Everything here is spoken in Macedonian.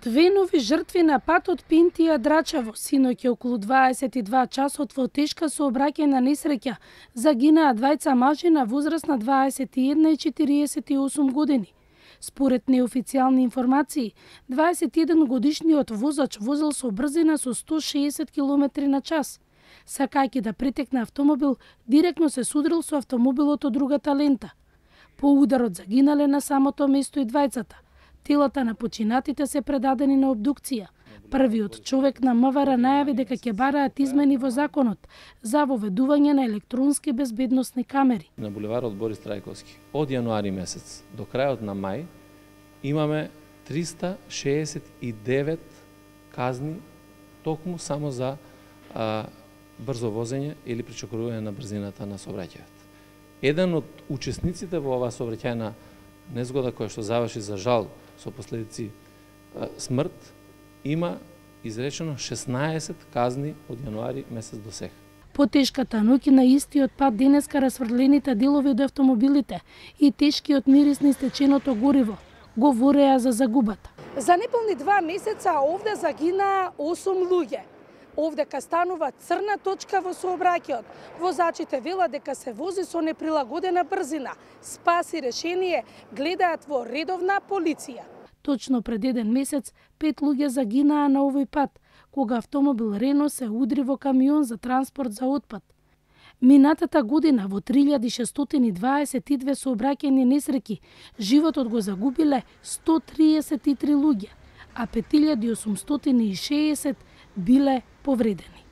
Две нови жртви на патот Пинтија-Драчево. Синоќ околу 22 часот во тешка сообраќајна несреќа загинаа двајца мажи на возраст на 21 и 48 години. Според неофицијални информации, 21 годишниот возач возел со брзина со 160 км на час. Сакајќи да претекне автомобил, директно се судрил со автомобилот од другата лента. По ударот загинале на самото место и двајцата. Телата на починатите се предадени на обдукција. Првиот човек на МВР најави дека ќе бараат измени во законот за воведување на електронски безбедносни камери. На булеварот Борис Трајковски од јануари месец до крајот на мај имаме 369 казни токму само за брзо возење или пречекорување на брзината на сообраќајот. Еден од учесниците во оваа сообраќајна незгода која што заврши за жал со последици смрт, има изречено 16 казни од јануари месец до сега. По тешката ноќ на истиот пат денеска расфрлените делови од автомобилите и тешкиот мирис на истеченото гориво говореа за загубата. За неполни 2 месеца овде загинаа 8 луѓе. Овдека станува црна точка во сообраќајот. Возачите велат дека се вози со неприлагодена брзина. Спас и решение гледаат во редовна полиција. Точно пред 1 месец 5 луѓе загинаа на овој пат, кога автомобил Рено се удри во камион за транспорт за отпад. Минатата година во 3622 сообраќајни несреќи животот го загубиле 133 луѓе, а 5860 биле повредени.